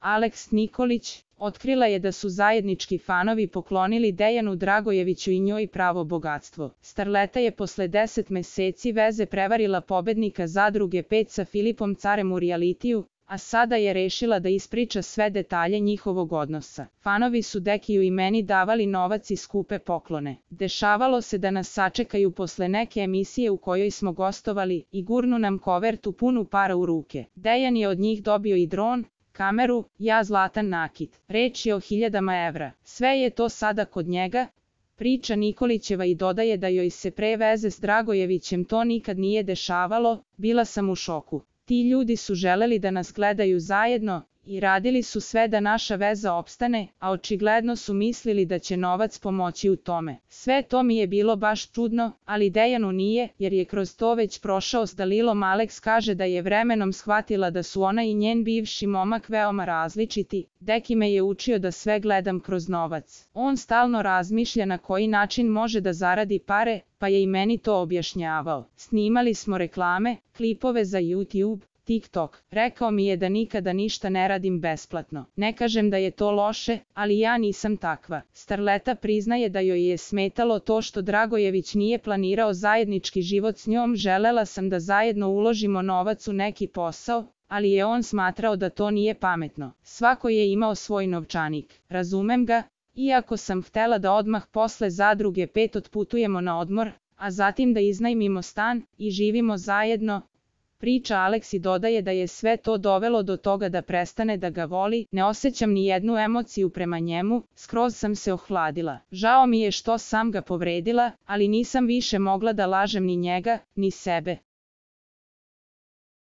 Aleks Nikolić, otkrila je da su zajednički fanovi poklonili Dejanu Dragojeviću i njoj pravo bogatstvo. Starleta je posle 10 meseci veze prevarila pobednika Zadruge 5 sa Filipom Carem u realitiju, a sada je rešila da ispriča sve detalje njihovog odnosa. Fanovi su Dekiju i meni davali novac i skupe poklone. Dešavalo se da nas sačekaju posle neke emisije u kojoj smo gostovali i gurnu nam kovertu punu para u ruke. Dejan je od njih dobio i dron, kameru, ja zlatan nakit. Reč je o 1000 evra. Sve je to sada kod njega, priča Nikolićeva i dodaje da joj se pre veze s Dragojevićem to nikad nije dešavalo, bila sam u šoku. Ti ljudi su želeli da nas gledaju zajedno i radili su sve da naša veza opstane, a očigledno su mislili da će novac pomoći u tome. Sve to mi je bilo baš čudno, ali Dejanu nije, jer je kroz to već prošao s Dalilom. Aleks kaže da je vremenom shvatila da su ona i njen bivši momak veoma različiti. Deki me je učio da sve gledam kroz novac. On stalno razmišlja na koji način može da zaradi pare, pa je i meni to objašnjavao. Snimali smo reklame, klipove za YouTube, TikTok. Rekao mi je da nikada ništa ne radim besplatno. Ne kažem da je to loše, ali ja nisam takva. Starleta priznaje da joj je smetalo to što Dragojević nije planirao zajednički život s njom. Želela sam da zajedno uložimo novac u neki posao, ali je on smatrao da to nije pametno. Svako je imao svoj novčanik. Razumem ga, iako sam htela da odmah posle Zadruge 5 otputujemo na odmor, a zatim da iznajmimo stan i živimo zajedno, priča Aleks i dodaje da je sve to dovelo do toga da prestane da ga voli. Ne osjećam ni jednu emociju prema njemu, skroz sam se ohladila. Žao mi je što sam ga povredila, ali nisam više mogla da lažem ni njega, ni sebe.